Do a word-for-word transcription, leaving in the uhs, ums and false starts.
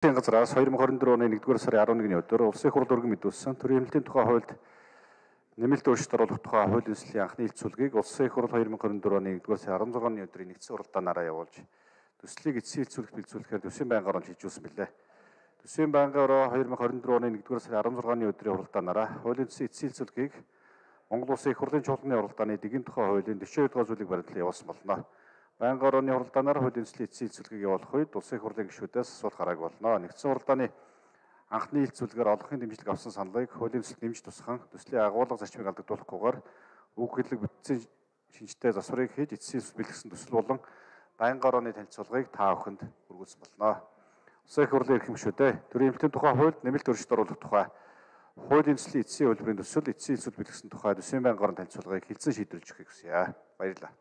газраас хоёр мың хорин дөрвөн оны нэгдүгээр сарын арван нэгний өдөр улсын хурл өргөн мэдүүлсэн төрийн эмнэлгийн тухай хуульд нэмэлт өөрчлөлт оруулах тухай хуулийн төслийн анхны хэлцүүлгийг улсын хурл хоёр мың хорин дөрвөн оны нэгдүгээр сарын арван зургааны өдрийн нэгдсэн уралдаанаараа явуулж төслийг эцсийн хэлцүүлэгт бэлдүүлэхээр төсвийн байнгын орон шийдвэрсэн билээ. Төсвийн байнгын орон хоёр мың хорин дөрвөн оны нэгдүгээр сарын арван зургааны өдрийн уралдаанаараа хуулийн төслийн эцсийн хэлцүүлгийг Монгол Улсын их хурлын чуулганы уралдааны дэгийн тухай хуулийн дөрвөн дугаар зүйлийг баримтлан явуулсан болно. Байнгын орооны уралдаанаар хуулийн төслийн эцсийн хэлцүүлгийг явуулах үед улсын их хурлын гишүүдээс асуулт гараагүй болно. Нэгдсэн уралдааны анхны хэлцүүлгээр олонхын дэмжлэг авсан саналыг хуулийн төсөлд нэмж тусган төслийн агуулга зарчмыг алдагдуулахгүйгээр үг хэллэг бүтцийн шинжтэй засварыг хийж эцсийн бэлтгэсэн төсөл болон байнгын орооны танилцуулгыг та бүхэнд хүргүүлсэн болно. Улсын их хурлын эрхэм гишүүдээ төрийн эмнэлгийн тухай хуульд нэмэлт өөрчлөлт оруулах тухай хуулийн төслийн эцсийн хөлбөрийн төсөл эцсийн хэлцүүлэг бэлтгэсэн тухай төсвийн байнгын орон танилцуулгыг хэлсэн шийдвэрлэж өгөхийг хүсье. Баярлалаа.